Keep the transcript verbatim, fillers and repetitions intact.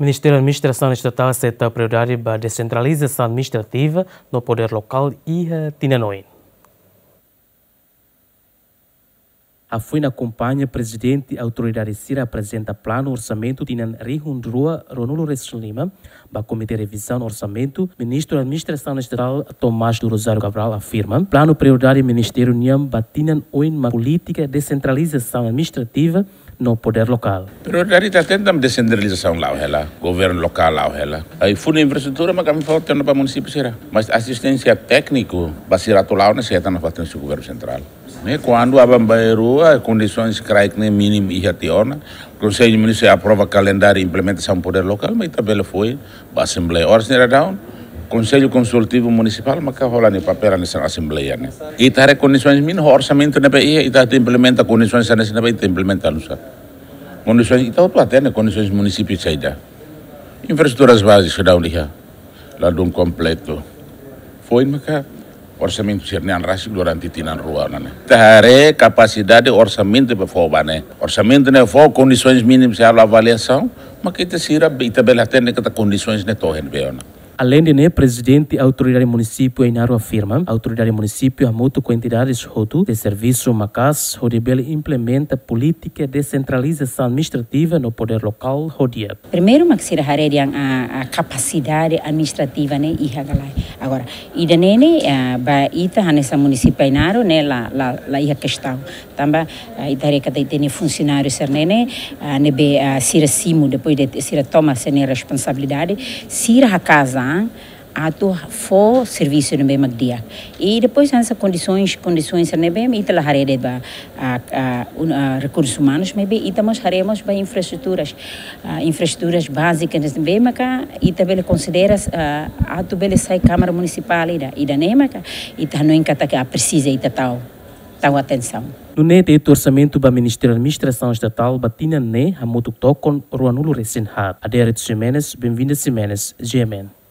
Ministériu Administrasaun Estatál sei tau prioridade ba desentralizasaun administrativa no podér lokál iha tinan oin. Hafoin akompaña, Prezidente Autoridade sira aprezenta planu orsamentu tinan rihun rua ruanulu resin lima ba Komité Revizaun Orsamentu, Ministru Administrasaun Estatál Tomás do Rosário Cabral afirma, planu prioridade ministériu nian ba tinan oin mak polítika desentralizasaun administrativa no podér lokál. Prioridade ita hatene desentralizasaun la'o hela, governu lokál la'o hela. Ai fundo infraestrutura mak ami fó tiha ona ba munisípiu sira. Mas asisténsia tékniku ba sira atu la'o ne'e sei hetan nafatin husi governu sentrál. Ne'e kuandu aban-bainrua rua kondisoens kraik ne'e mínimu iha tiha ona, Konsellu Munisipál aprova kalendáriu implementasaun podér lokál, mak ita bele fó ba Asembleia. Oras ne'e daudaun, Konsellu Konsultivu Munisipál maka hola nia papél hanesan Asembleia ne'e. Ita haree kondisoens mínimu, orsamentu ne'ebé iha, ita atu implementa kondisoens hanesan ne'ebé, ita implementa nusá. Kondisoens ita hotu hatene, kondisoens munisípiu saida. Infraestruturas bázika daudaun iha, ladún kompletu. Foin maka orsamentu sira-ne'e an rasik durante tinan rua ne'e. Ita haree kapasidade orsamentu ne'ebé fó ba ne'e. Orsamentu ne'e fó, kondisoens mínimu sei halo avaliasaun, maka ita sira, ita bele hatene katak kondisoens ne'e to'o iha ne'ebé ona. Aleinde ne'e, Prezidente Autoridade Munisípiu Ainaro afirma, autoridade munisípiu hamutuk ho entidades hotu sei servisu maka'as hodi bele implementa polítika desentralizasaun administrativa no podér lokál ho di'ak. Primeiru mak sira haree dehan, a, a kapasidade administrativa ne'e iha ka lae. Agora, ida-ne'e ne'e, a, ba ita hanesan munisípiu Ainaro ne'e la, la, la iha kestaun. Tanba, a, ita haree katak ita-nia funsionáriu sira-ne'e ne'e, a, ne'ebé, a, sira simu, depois de sira toma sira-nia responsabilidade, sira hakaas an atu fó servisu ne'ebé mak di'ak. I depois hanesan kondisoens, kondisoens ne'ebé ita la haree de'it ba, a, a, un-, a, rekursus umanus, maibé ita mós haree mós ba infraestruturas, a, infraestruturas bázikas ne'ebé maka ita bele konsidera, a, atu bele sai Kámara Munisipál ida. Ida-ne'e maka ita hanoin katak presiza ita tau, tau atensaun. Nune'e, tetu orsamentu ba Ministériu Administrasaun Estatál ba tinan ne'e hamutuk tokon ruanulu resin haat. Adérito Ximenes, Benvinda Ximenes, G M N.